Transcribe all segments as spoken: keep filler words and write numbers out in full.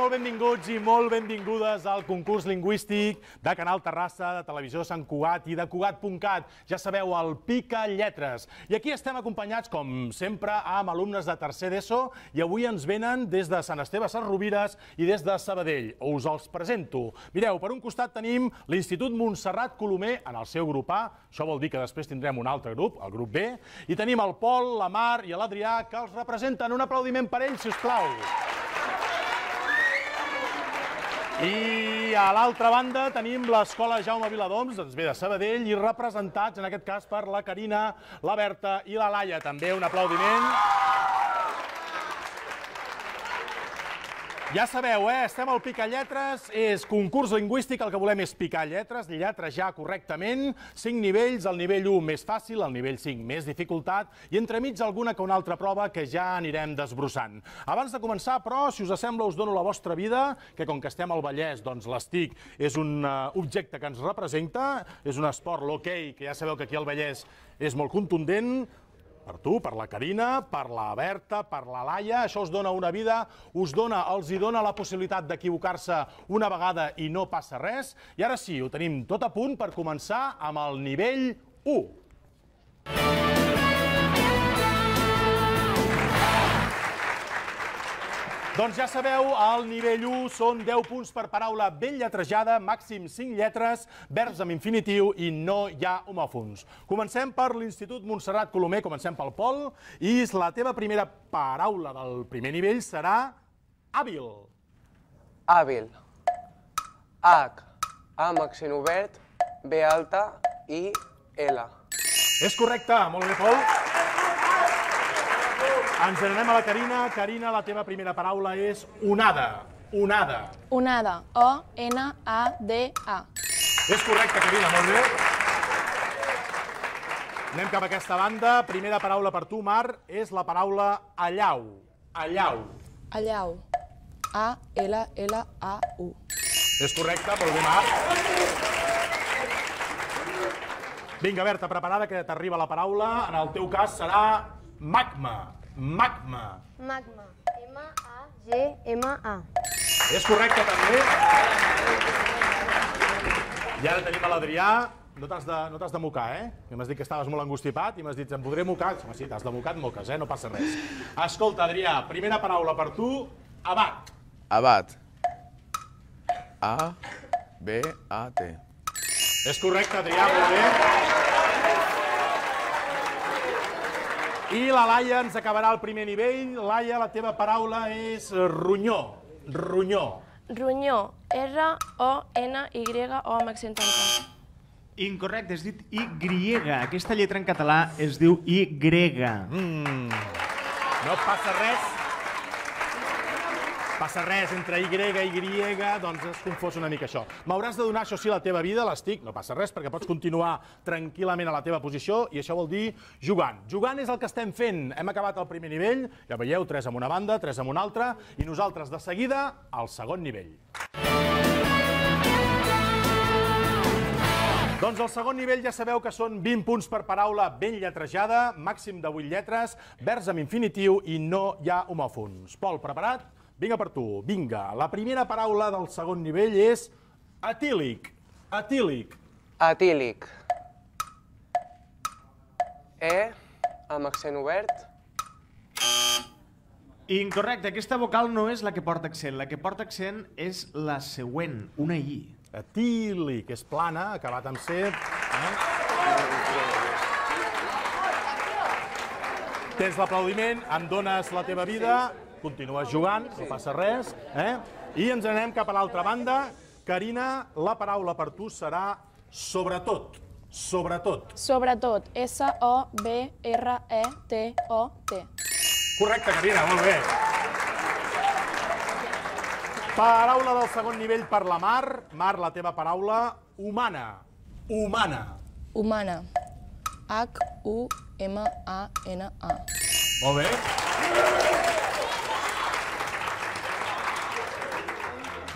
Molt benvinguts i molt benvingudes al concurs lingüístic de Canal Terrassa, de Televisió Sant Cugat i de Cugat punt cat. Ja sabeu, el Pica Lletres. I aquí estem acompanyats, com sempre, amb alumnes de tercer d'ESO i avui ens venen des de Sant Esteve Sesrovires i des de Sabadell. Us els presento. Mireu, per un costat tenim l'Institut Montserrat Colomer en el seu grup A. Això vol dir que després tindrem un altre grup, el grup B. I tenim el Pol, la Mar i l'Adrià, que els representen. Un aplaudiment per ells, si us plau. I a l'altra banda tenim l'Escola Jaume Viladoms, ens ve de Sabadell, i representats, en aquest cas, per la Carina, la Berta i la Laia. També un aplaudiment. Ja sabeu, eh? Estem al Pica Lletres, és concurs lingüístic, el que volem és picar lletres, lletrejar correctament, cinc nivells, el nivell u més fàcil, el nivell cinc més dificultat, i entremig alguna que una altra prova que ja anirem desbrossant. Abans de començar, però, si us sembla, us dono la vostra vida, que com que estem al Vallès, doncs l'estic és un objecte que ens representa, és un esport, l'hoquei, que ja sabeu que aquí al Vallès és molt contundent. Per tu, per la Carina, per la Berta, per la Laia, això us dona una vida, us dona, els hi dona la possibilitat d'equivocar-se una vegada i no passa res. I ara sí, ho tenim tot a punt per començar amb el nivell u. Doncs ja sabeu, al nivell u són deu punts per paraula ben lletrejada, màxim cinc lletres, verbs amb infinitiu i no hi ha homòfons. Comencem per l'Institut Montserrat Colomer, comencem pel Pol, i la teva primera paraula del primer nivell serà hàbil. Hàbil. H, A amb accent obert, B alta i L. És correcte, molt bé, Pol. Ens n'anem a la Carina. Carina, la teva primera paraula és onada. Onada. Onada. O N A D A. És correcte, Carina, molt bé. Anem cap a aquesta banda. Primera paraula per tu, Mar, és la paraula allau. Allau. Allau. A L L A U. És correcte, molt bé, Mar. Vinga, Berta, preparada, que t'arriba la paraula. En el teu cas serà magma. Magma. Magma. M A G M A. És correcte, també. I ara tenim a l'Adrià. No t'has de, no t'has de mocar, eh? M'has dit que estaves molt angustipat i m'has dit, em podré mocar? Home, sí, t'has de mocar, et moques, eh? No passa res. Escolta, Adrià, primera paraula per tu, abat. Abat. A B A T. És correcte, Adrià, molt bé. I la Laia ens acabarà el primer nivell. Laia, la teva paraula és ronyó. Ronyó. Ronyó. R O N Y O amb accent tancat. Incorrecte, has dit Y. Aquesta lletra en català es diu Y. Mm. No passa res. Passa res, entre Y i Y, doncs es confós una mica això. M'hauràs de donar, això sí, la teva vida, l'estic, no passa res, perquè pots continuar tranquil·lament a la teva posició, i això vol dir jugant. Jugant és el que estem fent. Hem acabat el primer nivell, ja veieu, tres amb una banda, tres amb una altra, i nosaltres, de seguida, al segon nivell. Doncs el segon nivell ja sabeu que són vint punts per paraula ben lletrejada, màxim de vuit lletres, verbs amb infinitiu i no hi ha homòfons. Pol, preparat? Vinga per tu, vinga. La primera paraula del segon nivell és etílic. Etílic. Etílic. E amb accent obert. Incorrecte, aquesta vocal no és la que porta accent. La que porta accent és la següent, una I. Etílic, és plana, acabat amb C. Tens l'aplaudiment, em dones la teva vida, continues jugant, no passa res. I ens anem cap a l'altra banda. Carina, la paraula per tu serà sobretot. Sobretot. Sobretot. S O B R E T O T. Correcte, Carina, molt bé. Paraula del segon nivell per la Mar. Mar, la teva paraula, humana. Humana. Humana. H U M A N A. Molt bé.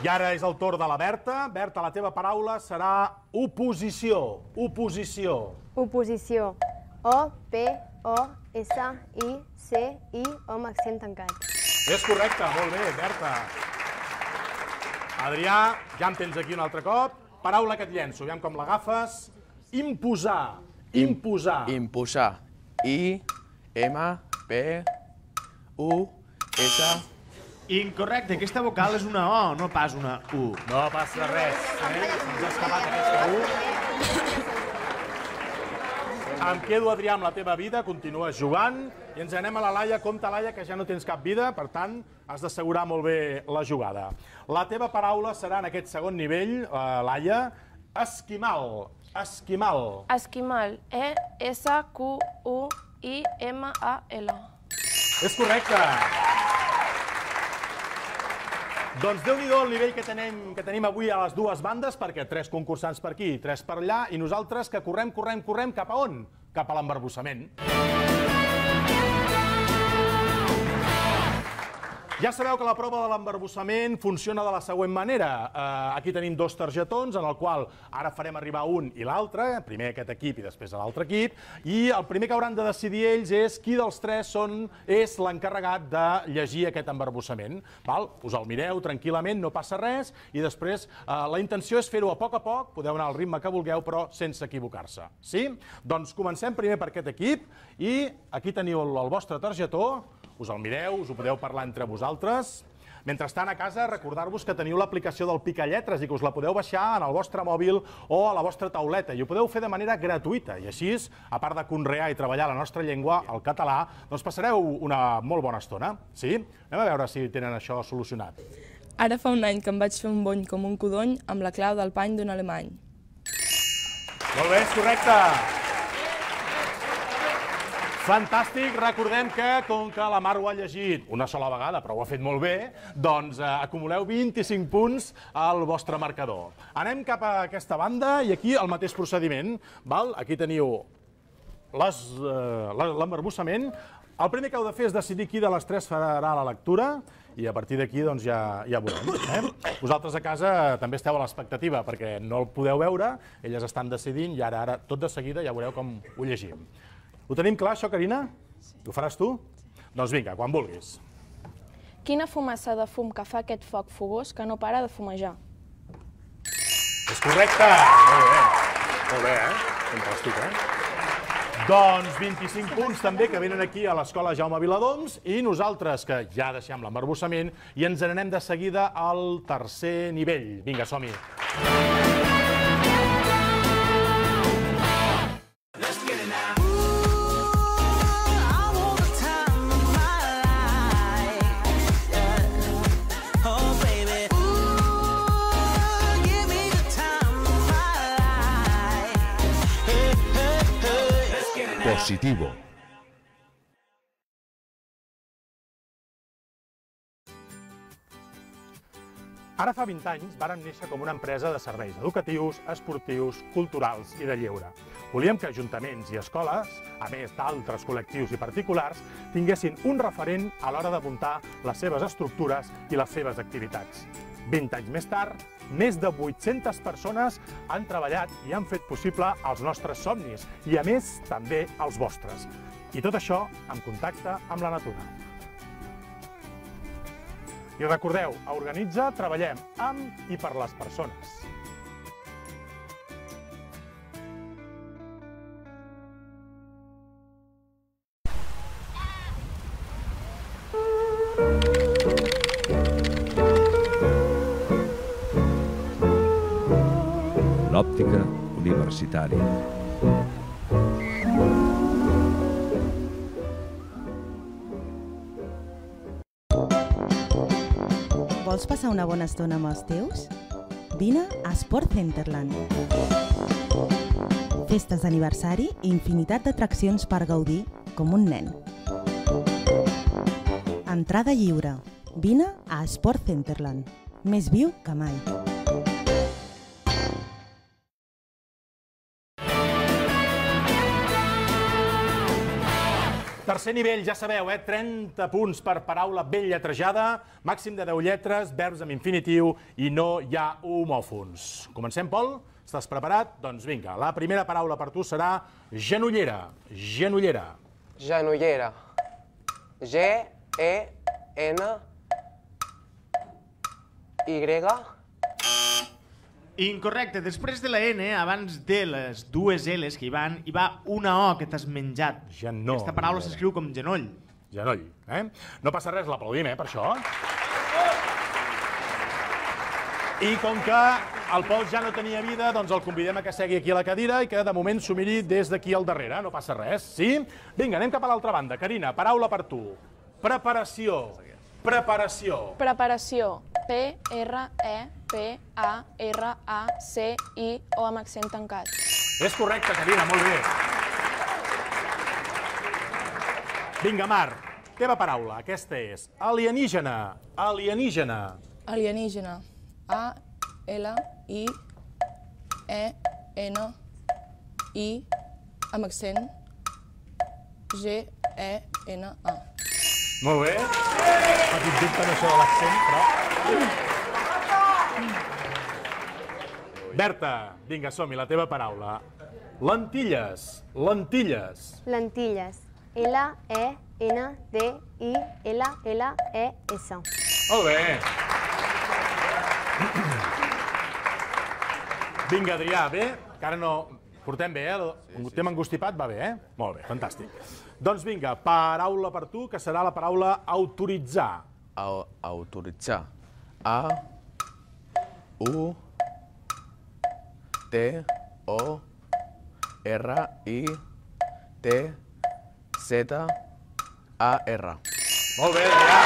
I ara és el torn de la Berta. Berta, la teva paraula serà oposició. Oposició. Oposició. O P O S I C I O amb accent tancat. És correcte, molt bé, Berta. Adrià, ja em tens aquí un altre cop. Paraula que et llenço, aviam com l'agafes. Imposar. Imposar. Imposar. I, M, P, U, S... Incorrecte, aquesta vocal és una O, no pas una U. No passa res, eh? Ens ha escapat aquesta U. Em quedo, Adrià, amb la teva vida, continues jugant i ens anem a la Laia. Compte, Laia, que ja no tens cap vida, per tant, has d'assegurar molt bé la jugada. La teva paraula serà en aquest segon nivell, Laia, esquimal. Esquimal. Esquimal. E S Q U I M A L. És correcte. Doncs déu-n'hi-do el nivell que tenim, que tenim avui a les dues bandes, perquè tres concursants per aquí, tres per allà, i nosaltres que correm, correm, correm cap a on? Cap a l'embarbussament. Ja sabeu que la prova de l'embarbussament funciona de la següent manera. Aquí tenim dos targetons, en el qual ara farem arribar un i l'altre, primer aquest equip i després l'altre equip, i el primer que hauran de decidir ells és qui dels tres és l'encarregat de llegir aquest embarbussament. Us el mireu tranquil·lament, no passa res, i després la intenció és fer-ho a poc a poc, podeu anar al ritme que vulgueu, però sense equivocar-se. Sí? Doncs comencem primer per aquest equip, i aquí teniu el vostre targetó. Us el mireu, us ho podeu parlar entre vosaltres. Mentrestant, a casa, recordar-vos que teniu l'aplicació del Picalletres i que us la podeu baixar en el vostre mòbil o a la vostra tauleta. I ho podeu fer de manera gratuïta. I així, a part de conrear i treballar la nostra llengua, el català, doncs passareu una molt bona estona. Sí? Anem a veure si tenen això solucionat. Ara fa un any que em vaig fer un bony com un codony amb la clau del pany d'un alemany. Molt bé, és correcte. Fantàstic, recordem que, com que la Mar ho ha llegit una sola vegada, però ho ha fet molt bé, doncs acumuleu vint-i-cinc punts al vostre marcador. Anem cap a aquesta banda i aquí el mateix procediment. Aquí teniu l'embarbussament. El primer que heu de fer és decidir qui de les tres farà la lectura i a partir d'aquí ja veurem. Vosaltres a casa també esteu a l'expectativa perquè no el podeu veure, elles estan decidint i ara tot de seguida ja veureu com ho llegim. Ho tenim clar, això, Carina? Sí. Ho faràs tu? Doncs vinga, quan vulguis. Quina fumassa de fum que fa aquest foc fogós que no para de fumejar? És correcte! Molt bé. Molt bé, eh? Fantàstic, eh? Doncs vint-i-cinc punts també que venen aquí a l'Escola Jaume Viladoms i nosaltres que ja deixem l'embarbussament i ens n'anem de seguida al tercer nivell. Vinga, som-hi. Positivo. Ara fa vint anys vàrem néixer com una empresa de serveis educatius, esportius, culturals i de lleure. Volíem que ajuntaments i escoles, a més d'altres col·lectius i particulars, tinguessin un referent a l'hora de muntar les seves estructures i les seves activitats. vint anys més tard, més de vuit-centes persones han treballat i han fet possible els nostres somnis i, a més, també els vostres. I tot això en contacte amb la natura. I recordeu, a Organitza treballem amb i per les persones. L'òptica universitària. Vols passar una bona estona amb els teus? Vine a Sport Centerland. Festes d'aniversari i infinitat d'atraccions per gaudir com un nen. Entrada lliure. Vine a Sport Centerland. Més viu que mai. Tercer nivell, ja sabeu, eh? trenta punts per paraula ben lletrejada, màxim de deu lletres, verbs amb infinitiu i no hi ha homòfons. Comencem, Pol? Estàs preparat? Doncs vinga, la primera paraula per tu serà genollera. Genollera. Genollera. G, E, N, Y, Incorrecte. Després de la N, abans de les dues L's que hi van, hi va una O que t'has menjat. Genoll. Aquesta paraula s'escriu com genoll. Genoll, eh? No passa res, l'aplaudim, eh, per això. I com que el Pol ja no tenia vida, doncs el convidem a que segui aquí a la cadira i que de moment s'ho miri des d'aquí al darrere, no passa res, sí? Vinga, anem cap a l'altra banda. Carina, paraula per tu. Preparació. Preparació. Preparació. P, R, E, P, A, R, A, C, I, O amb accent tancat. És correcte, Carina, molt bé. Vinga, Mar, teva paraula. Aquesta és alienígena. Alienígena. Alienígena. A, L, I, E, N, I, amb accent, G, E, N, A. Molt bé. Petit dubte en això de l'accent, però... Berta, vinga, som-hi, la teva paraula. Lentilles. Lentilles. Lentilles. L, E, N, D, I, L, L, E, S. Molt bé. Vinga, Adrià, bé? Que ara no... Portem bé, eh? Un tema engustipat va bé, eh? Molt bé, fantàstic. Doncs vinga, paraula per tu, que serà la paraula autoritzar. Autoritzar. A, U, T, O, R, I, T, Z, A, R. Molt bé, Adrià.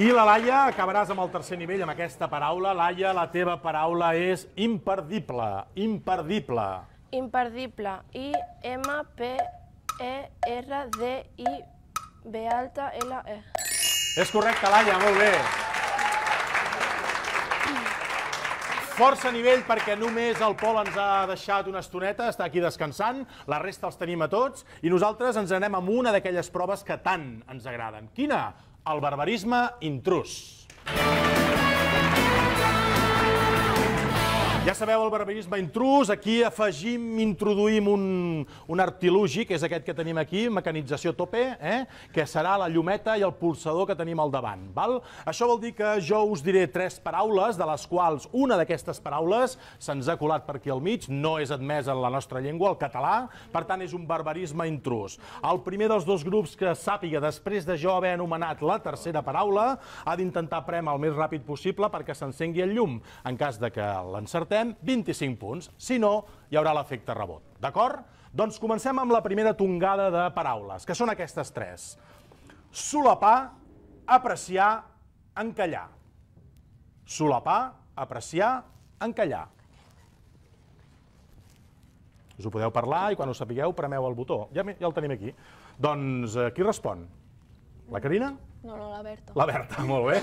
I la Laia, acabaràs amb el tercer nivell amb aquesta paraula. Laia, la teva paraula és imperdible. Imperdible. Imperdible. I, M, P, E, R, D, I, B alta, L, E. És correcte, Laia, molt bé. Força nivell perquè només el Pol ens ha deixat una estoneta, està aquí descansant, la resta els tenim a tots, i nosaltres ens anem amb una d'aquelles proves que tant ens agraden. Quina? El barbarisme intrús. Ja sabeu el barbarisme intrús, aquí afegim, introduïm un, un artilugi, que és aquest que tenim aquí, mecanització tope, eh? Que serà la llumeta i el pulsador que tenim al davant. Val? Això vol dir que jo us diré tres paraules, de les quals una d'aquestes paraules se'ns ha colat per aquí al mig, no és admesa en la nostra llengua, el català, per tant és un barbarisme intrús. El primer dels dos grups que sàpiga, després de jo haver anomenat la tercera paraula, ha d'intentar prémer el més ràpid possible perquè s'encengui el llum. En cas de que l'encertem, vint-i-cinc punts, si no, hi haurà l'efecte rebot. D'acord? Doncs comencem amb la primera tongada de paraules, que són aquestes tres. Solapar, apreciar, encallar. Solapar, apreciar, encallar. Us ho podeu parlar i quan ho sapigueu premeu el botó. Ja, ja el tenim aquí. Doncs qui respon? La Carina? No, no, la Berta. La Berta, molt bé.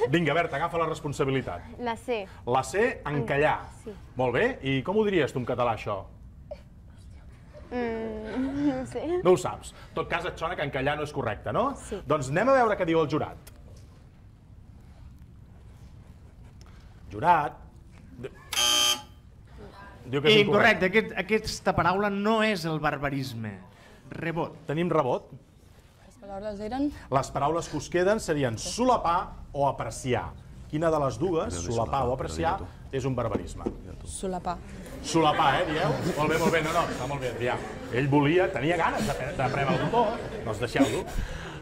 Vinga, Berta, agafa la responsabilitat. La C. La C, encallar. Sí. Molt bé. I com ho diries tu en català, això? Mm, no sé. No ho saps. En tot cas, et sona que encallar no és correcte, no? Sí. Doncs anem a veure què diu el jurat. Jurat... Diu que és incorrecte. Aquest, aquesta paraula no és el barbarisme. Rebot. Tenim rebot. Les paraules eren... Les paraules que us queden serien solapar o apreciar. Quina de les dues, solapar o apreciar, és un barbarisme? Solapar. Solapar, eh, dieu? Molt bé, molt bé, no, no, està molt bé, Adrià. Ell volia, tenia ganes de, de prémer el botó, doncs deixeu-lo.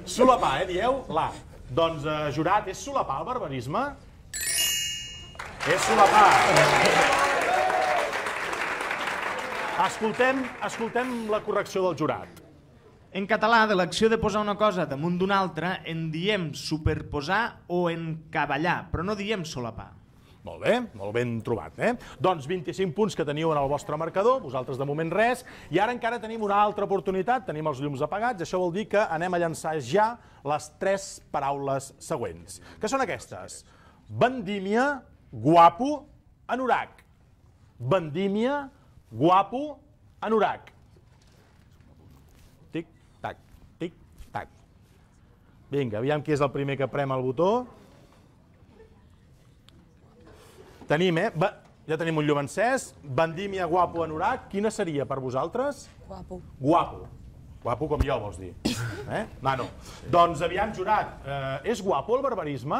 Solapar, eh, dieu? La. Doncs, eh, jurat, és solapar el barbarisme? És solapar. Escoltem, escoltem la correcció del jurat. En català, de l'acció de posar una cosa damunt d'una altra, en diem superposar o encavallar, però no diem solapar. Molt bé, molt ben trobat, eh? Doncs vint-i-cinc punts que teniu en el vostre marcador, vosaltres de moment res, i ara encara tenim una altra oportunitat, tenim els llums apagats, això vol dir que anem a llançar ja les tres paraules següents, que són aquestes. Vendímia, guapo, anorac. Vendímia, guapo, anorac. Tic-tac, tic-tac. Vinga, aviam qui és el primer que prema el botó. Tenim, eh? Va, ja tenim un llum encès. Vendímia, guapo, anorac. Quina seria per vosaltres? Guapo. Guapo. Guapo com jo, vols dir? Mano, doncs aviam, jurat, és guapo el barbarisme?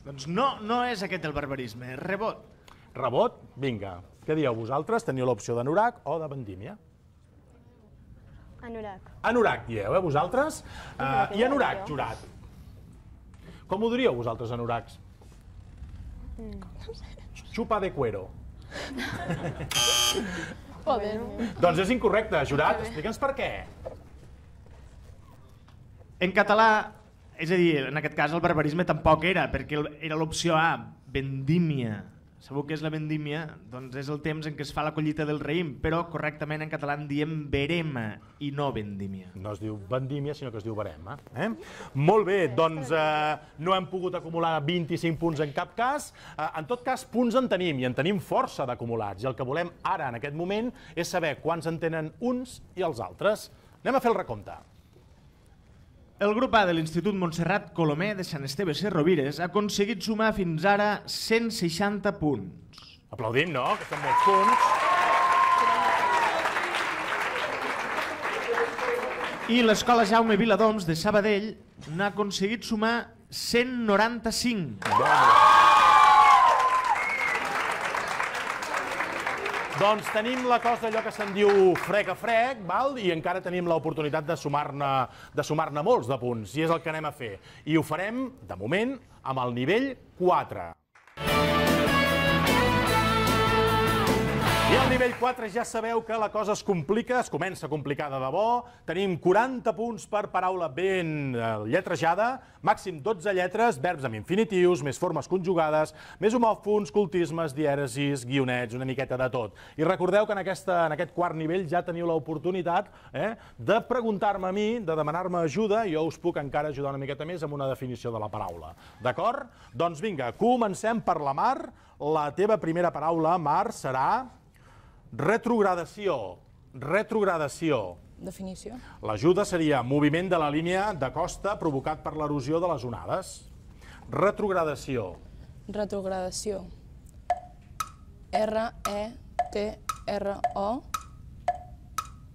Doncs no, no és aquest el barbarisme, és rebot. Rebot? Vinga. Què dieu vosaltres? Teniu l'opció d'anorac o de vendímia? Anorac. Anorac, dieu, eh, vosaltres? I anorac, jurat. Com ho diríeu vosaltres, anoracs? Xupa de cuero. Doncs és incorrecte, jurat. Explica'ns per què. En català, és a dir, en aquest cas el barbarisme tampoc era, perquè era l'opció A, vendímia. Sabeu què és la vendímia? Doncs és el temps en què es fa la collita del raïm, però correctament en català en diem verema i no vendímia. No es diu vendímia, sinó que es diu verema. Eh? Molt bé, doncs eh, no hem pogut acumular vint-i-cinc punts en cap cas. Eh, en tot cas, punts en tenim, i en tenim força d'acumulats. I el que volem ara, en aquest moment, és saber quants en tenen uns i els altres. Anem a fer el recompte. El grup A de l'Institut Montserrat Colomer de Sant Esteve Sesrovires ha aconseguit sumar fins ara cent seixanta punts. Aplaudim, no? Que són molts punts. I l'Escola Jaume Viladoms de Sabadell n'ha aconseguit sumar cent noranta-cinc. Doncs tenim la cosa allò que se'n diu frec a frec, val? I encara tenim l'oportunitat de sumar-ne de sumar-ne molts de punts, i és el que anem a fer. I ho farem, de moment, amb el nivell quatre. I al nivell quatre ja sabeu que la cosa es complica, es comença a complicar de debò. Tenim quaranta punts per paraula ben lletrejada, màxim dotze lletres, verbs amb infinitius, més formes conjugades, més homòfons, cultismes, dièresis, guionets, una miqueta de tot. I recordeu que en, aquesta, en aquest quart nivell ja teniu l'oportunitat eh, de preguntar-me a mi, de demanar-me ajuda, i jo us puc encara ajudar una miqueta més amb una definició de la paraula. D'acord? Doncs vinga, comencem per la Mar. La teva primera paraula, Mar, serà retrogradació. Retrogradació. Definició. L'ajuda seria moviment de la línia de costa provocat per l'erosió de les onades. Retrogradació. Retrogradació. R E T R O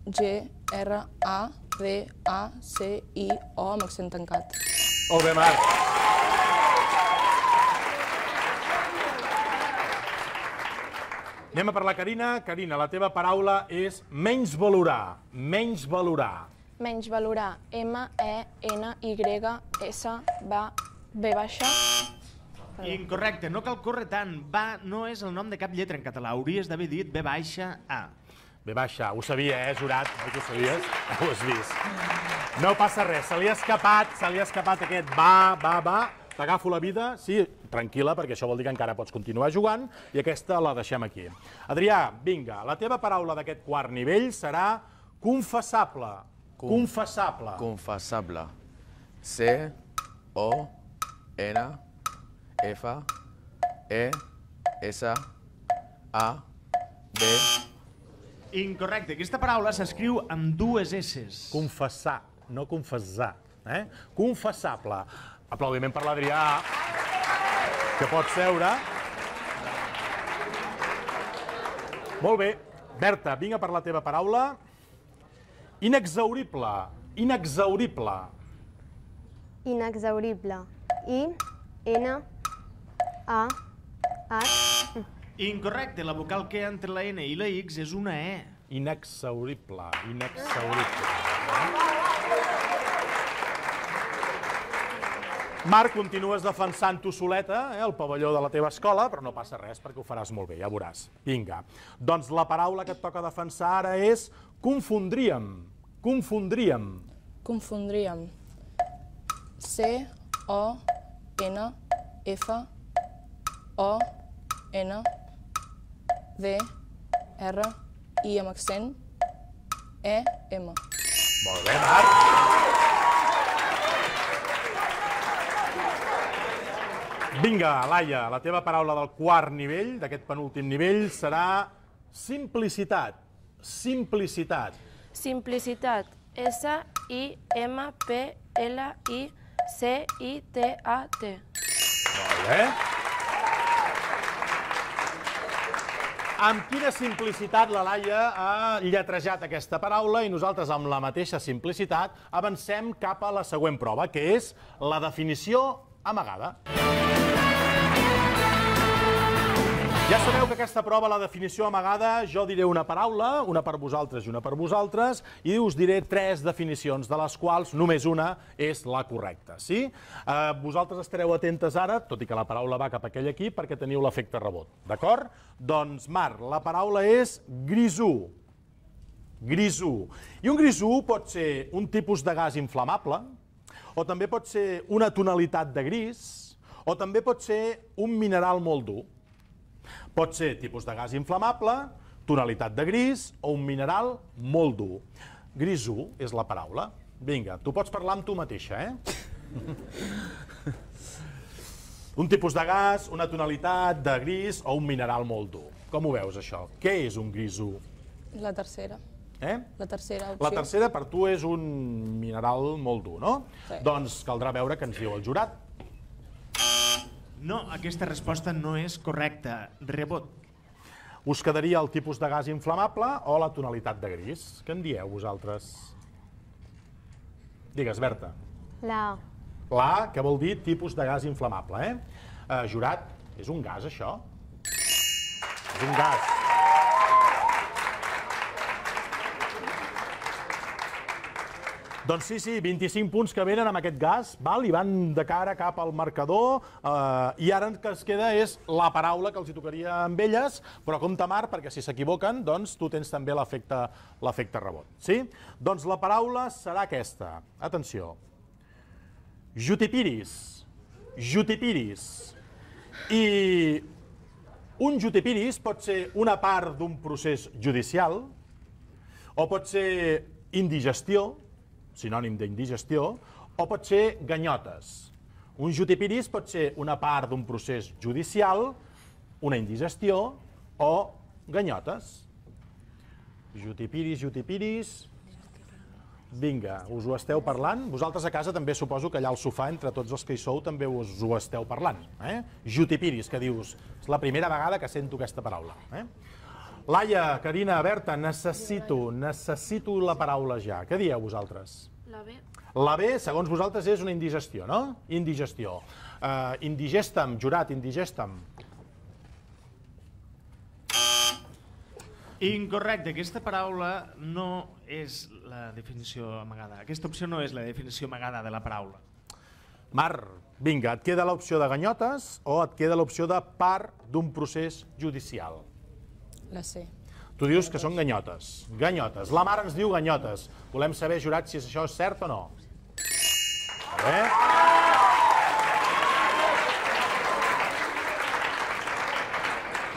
G R A D A C I O amb accent tancat. Molt bé, Marc. Anem a per la Carina. Carina, la teva paraula és menys valorar. Menys valorar. Menys valorar. M E N Y S B baixa. Incorrecte, no cal córrer tant. Va no és el nom de cap lletra en català. Hauries d'haver dit B baixa A. B baixa, ho sabia, eh, jurat? Oi que ho sabies? Ho has vist. No passa res, se li ha escapat, se li ha escapat aquest va, va, va. T'agafo la vida, sí, tranquil·la, perquè això vol dir que encara pots continuar jugant, i aquesta la deixem aquí. Adrià, vinga, la teva paraula d'aquest quart nivell serà confessable. Confessable. Confessable. C O N F E S A B. Incorrecte, aquesta paraula s'escriu amb dues esses. Confessar, no confessar. Eh? Confessable. Aplaudiment per l'Adrià, que pot seure. Molt bé. Berta, vinga per la teva paraula. Inexhaurible. Inexhaurible. Inexhaurible. I, N, A, H. Incorrecte, la vocal que entre la N i la X és una E. Inexhaurible. Inexhaurible. Marc, continues defensant tu soleta, eh, el pavelló de la teva escola, però no passa res perquè ho faràs molt bé, ja veuràs. Vinga. Doncs la paraula que et toca defensar ara és confondríem. Confondríem. Confondríem. C O N F O N D R I amb accent E M. Molt bé, Marc. Vinga, Laia, la teva paraula del quart nivell, d'aquest penúltim nivell, serà simplicitat. Simplicitat. Simplicitat. S I M P L I C I T A T. Molt bé. amb quina simplicitat la Laia ha lletrejat aquesta paraula i nosaltres amb la mateixa simplicitat avancem cap a la següent prova, que és la definició amagada. Ja sabeu que aquesta prova, la definició amagada, jo diré una paraula, una per vosaltres i una per vosaltres, i us diré tres definicions, de les quals només una és la correcta. Sí? Vosaltres estareu atentes ara, tot i que la paraula va cap a aquell equip, perquè teniu l'efecte rebot. D'acord? Doncs, Mar, la paraula és grisú. Grisú. I un grisú pot ser un tipus de gas inflamable, o també pot ser una tonalitat de gris, o també pot ser un mineral molt dur. Pot ser tipus de gas inflamable, tonalitat de gris o un mineral molt dur. Grisú és la paraula. Vinga, tu pots parlar amb tu mateixa, eh? Un tipus de gas, una tonalitat de gris o un mineral molt dur. Com ho veus, això? Què és un grisú? La tercera. Eh? La tercera opció. La tercera per tu és un mineral molt dur, no? Sí. Doncs caldrà veure què ens diu el jurat. No, aquesta resposta no és correcta. Rebot. Us quedaria el tipus de gas inflamable o la tonalitat de gris? Què en dieu, vosaltres? Digues, Berta. La A. La A, que vol dir tipus de gas inflamable, eh? eh jurat, és un gas, això? És un gas. Doncs sí, sí, vint-i-cinc punts que venen amb aquest gas, val? I van de cara cap al marcador, eh, i ara el que es queda és la paraula que els hi tocaria amb elles, però compte, Mar, perquè si s'equivoquen, doncs tu tens també l'efecte rebot. Sí? Doncs la paraula serà aquesta. Atenció. Jutipiris. Jutipiris. I un jutipiris pot ser una part d'un procés judicial, o pot ser indigestió, sinònim d'indigestió, o pot ser ganyotes. Un jutipiris pot ser una part d'un procés judicial, una indigestió o ganyotes. Jutipiris, jutipiris... Vinga, us ho esteu parlant? Vosaltres a casa també suposo que allà al sofà, entre tots els que hi sou, també us ho esteu parlant. Jutipiris, que dius, és la primera vegada que sento aquesta paraula. Laia, Carina, Berta, necessito, necessito la paraula ja. Què dieu vosaltres? La B. La B, segons vosaltres, és una indigestió, no? Indigestió. Uh, indigestem, jurat, indigestem. Incorrecte, aquesta paraula no és la definició amagada. Aquesta opció no és la definició amagada de la paraula. Mar, vinga, et queda l'opció de ganyotes o et queda l'opció de part d'un procés judicial? La C. Tu dius que són ganyotes. Ganyotes. La Mar ens diu ganyotes. Volem saber, jurat, si això és cert o no. A veure...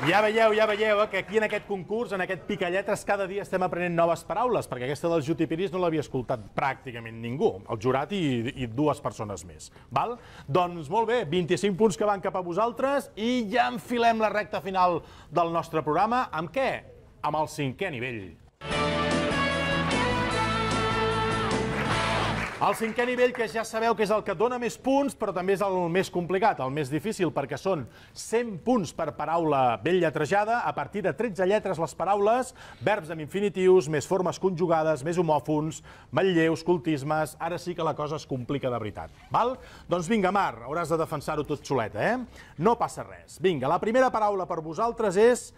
Ja veieu, ja veieu, que aquí en aquest concurs, en aquest Picalletres, cada dia estem aprenent noves paraules, perquè aquesta dels jutipiris no l'havia escoltat pràcticament ningú, el jurat i, i dues persones més. Val? Doncs molt bé, vint-i-cinc punts que van cap a vosaltres i ja enfilem la recta final del nostre programa. Amb què? Amb el cinquè nivell. El cinquè nivell, que ja sabeu que és el que dona més punts, però també és el més complicat, el més difícil, perquè són cent punts per paraula ben lletrejada, a partir de tretze lletres les paraules, verbs amb infinitius, més formes conjugades, més homòfons, manlleus, cultismes, ara sí que la cosa es complica de veritat. Val? Doncs vinga, Mar, hauràs de defensar-ho tot soleta, eh? No passa res. Vinga, la primera paraula per vosaltres és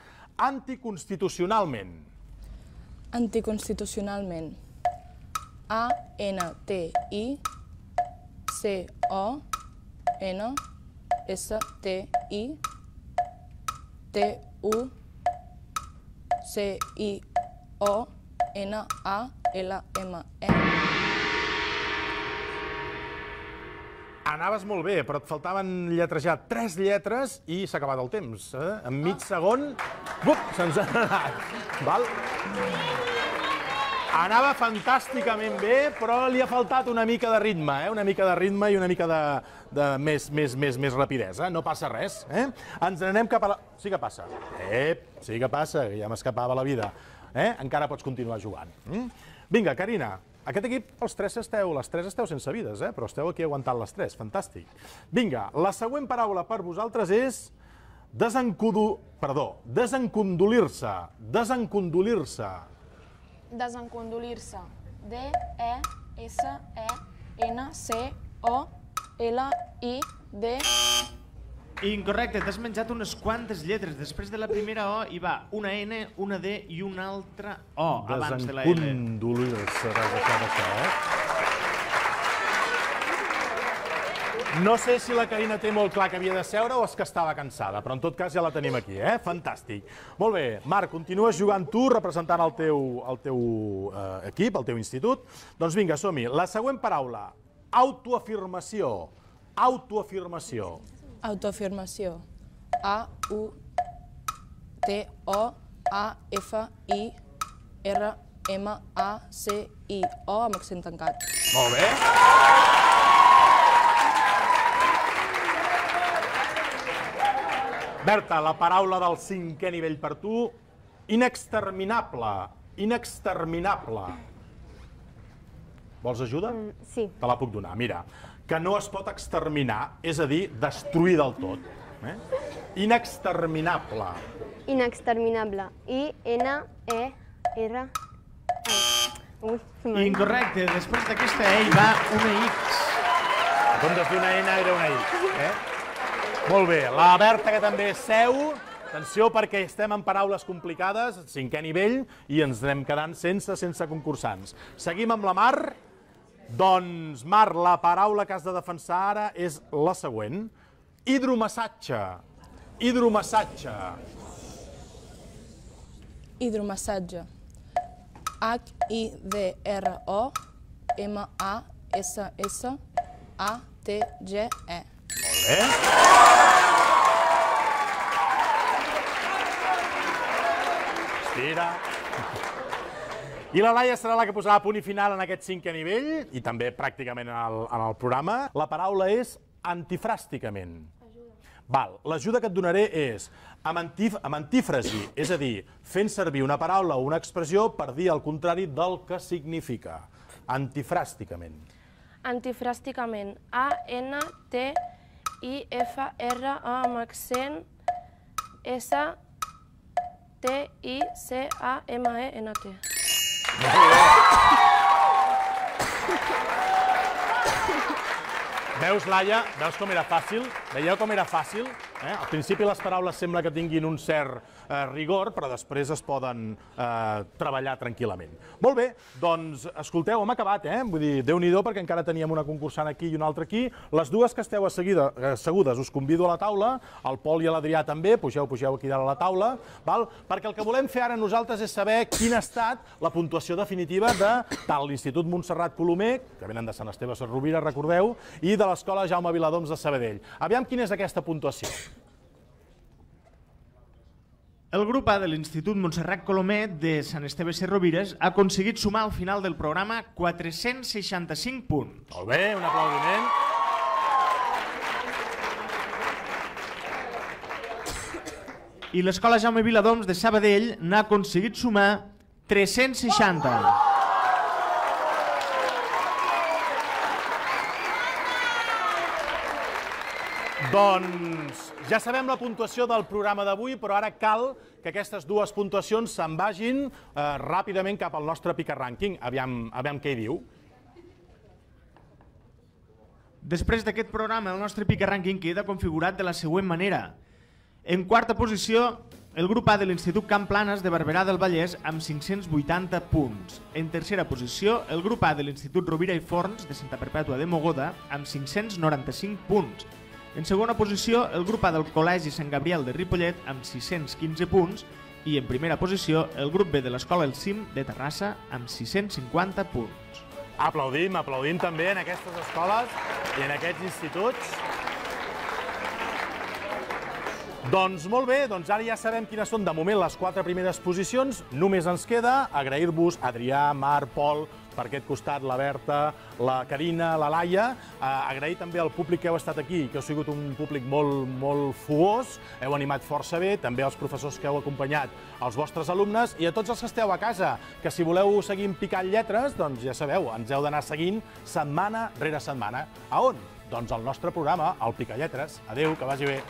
anticonstitucionalment. Anticonstitucionalment. A, N, T, I, C, O, N, S, T, I, T, U, C, I, O, N, A, L, M, E. Anaves molt bé, però et faltaven lletrejar tres lletres i s'ha acabat el temps. En mig segon, se'ns ha anat. Val? Anava fantàsticament bé, però li ha faltat una mica de ritme, eh? Una mica de ritme i una mica de, de més, més, més, més rapidesa. No passa res, eh? Ens n'anem cap a la... Sí que passa. Ep, sí que passa, que ja m'escapava la vida. Eh? Encara pots continuar jugant. Mm? Vinga, Carina, aquest equip, els tres esteu, les tres esteu sense vides, eh? Però esteu aquí aguantant les tres, fantàstic. Vinga, la següent paraula per vosaltres és Desencudu... Perdó, desencondolir-se. Desencondolir-se. Desencondolir-se. D, E, S, E, N, C, O, L, I, D... Incorrecte, t'has menjat unes quantes lletres. Després de la primera O hi va una N, una D i una altra O abans de la L. Desencondolir-se, t'has deixat això, eh? No sé si la Carina té molt clar que havia de seure o és que estava cansada, però en tot cas ja la tenim aquí, eh? Fantàstic. Molt bé, Marc, continues jugant tu, representant el teu, el teu eh, equip, el teu institut. Doncs vinga, som-hi. La següent paraula, autoafirmació. Autoafirmació. Autoafirmació. A, U, T, O, A, F, I, R, M, A, C, I, O, amb accent tancat. Molt bé. Berta, la paraula del cinquè nivell per tu, inexterminable. Inexterminable. Vols ajuda? Mm, sí. Te la puc donar. Mira, que no es pot exterminar, és a dir, destruir del tot. Eh? Inexterminable. Inexterminable. I, N, E, R... Ui, Incorrecte, després d'aquesta E hi va una X. En comptes d'una N era una X. Eh? Molt bé, la Berta, que també seu, atenció perquè estem en paraules complicades, cinquè nivell, i ens anem quedant sense, sense concursants. Seguim amb la Mar. Doncs, Mar, la paraula que has de defensar ara és la següent. Hidromassatge. Hidromassatge. Hidromassatge. H, I, D, R, O, M, A, S, S, A, T, G, E. Molt bé. Estira. I la Laia serà la que posarà punt i final en aquest cinquè nivell, i també pràcticament en el, en el programa. La paraula és antifràsticament. Val, l'ajuda que et donaré és amb, antif, amb antífrasi, és a dir, fent servir una paraula o una expressió per dir el contrari del que significa. Antifràsticament. Antifràsticament. A, N, T, I, F, R, A amb accent, S, T, I, C, A, M, E, N, T. Veus, Laia? Veus com era fàcil? Veieu com era fàcil? Eh? Al principi les paraules sembla que tinguin un cert eh, rigor, però després es poden eh, treballar tranquil·lament. Molt bé, doncs, escolteu, hem acabat, eh? Vull dir, Déu-n'hi-do, perquè encara teníem una concursant aquí i una altra aquí. Les dues que esteu assegudes, us convido a la taula, el Pol i l'Adrià també, pugeu, pugeu aquí dalt a la taula, val? Perquè el que volem fer ara nosaltres és saber quina ha estat la puntuació definitiva de tant l'Institut Montserrat Colomer, que venen de Sant Esteve Sesrovira, recordeu, i de l'Escola Jaume Viladoms de Sabadell. Aviam quina és aquesta puntuació. El grup A de l'Institut Montserrat Colomer de Sant Esteve Sesrovires ha aconseguit sumar al final del programa quatre-cents seixanta-cinc punts. Molt bé, un aplaudiment. I l'Escola Jaume Viladoms de Sabadell n'ha aconseguit sumar tres-cents seixanta. Doncs ja sabem la puntuació del programa d'avui, però ara cal que aquestes dues puntuacions se'n vagin eh, ràpidament cap al nostre Pica Rànquing. Aviam, aviam què hi diu. Després d'aquest programa, el nostre Pica Rànquing queda configurat de la següent manera. En quarta posició, el grup A de l'Institut Camp Planes de Barberà del Vallès amb cinc-cents vuitanta punts. En tercera posició, el grup A de l'Institut Rovira i Forns de Santa Perpètua de Mogoda amb cinc-cents noranta-cinc punts. En segona posició, el grup A del Col·legi Sant Gabriel de Ripollet amb sis-cents quinze punts i en primera posició, el grup B de l'Escola El Cim de Terrassa amb sis-cents cinquanta punts. Aplaudim, aplaudim també en aquestes escoles i en aquests instituts. Doncs molt bé, doncs ara ja sabem quines són de moment les quatre primeres posicions. Només ens queda agrair-vos, Adrià, Marc, Pol, per aquest costat, la Berta, la Carina, la Laia. Eh, agrair també al públic que heu estat aquí, que heu sigut un públic molt, molt fogós, heu animat força bé, també als professors que heu acompanyat, als vostres alumnes i a tots els que esteu a casa, que si voleu seguir picant lletres, doncs ja sabeu, ens heu d'anar seguint setmana rere setmana. A on? Doncs al nostre programa, el Picalletres. Adéu, que vagi bé.